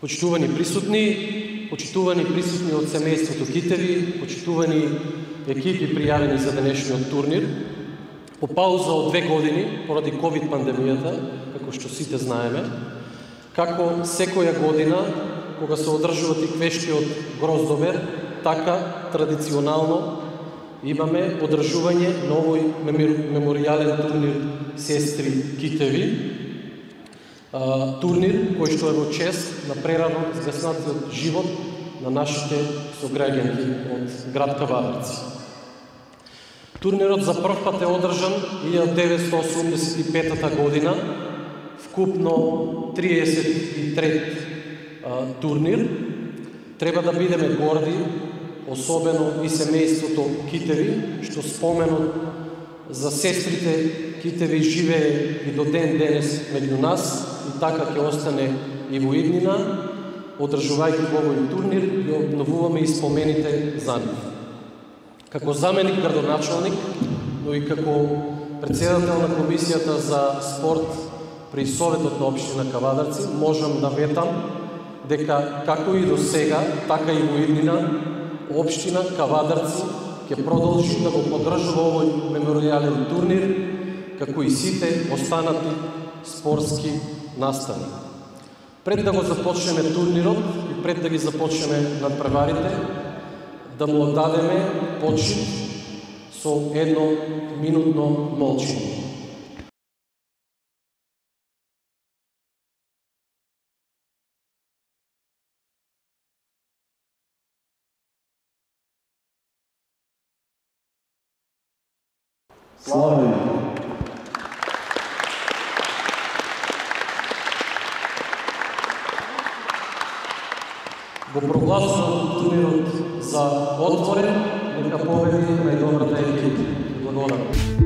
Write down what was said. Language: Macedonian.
Почитувани присутни од семејството Китеви, почитувани екипи пријавени за денешниот турнир. По пауза од 2 години, поради ковид пандемијата, како што сите знаеме, како секоја година, кога се одржува тиквештиот Гроздобер, така традиционално имаме одржување на овој меморијален турнир Сестри Китеви. Турнир кој што е во чест на прерано згаснатиот живот на нашите сограѓанки од град Кавадарци. Турнирот за прв пат е одржан 1985 година, вкупно 33 турнир. Треба да бидеме горди, особено и семејството Китеви, што споменот за сестрите Китеви живее и до ден денес меѓу нас и така ќе остане и во иднина, одржувајќи во овој турнир и обновуваме и спомените за нив. Како заменик градоначалник, но и како председател на Комисијата за спорт при Советот на општина Кавадарци, можам да ветам дека како и до сега, така и во иднина, општина Кавадарци ќе продолжи да го поддржува овој меморијален турнир, како и сите останати спортски настани. Пред да го започнеме турнирот и пред да ги започнеме надпреварите, да му оддадеме почит со 1-минутно молчење. Славен! Го прогласувам турнирот за отворен, нека победи најдобрата екипа. Благодарам.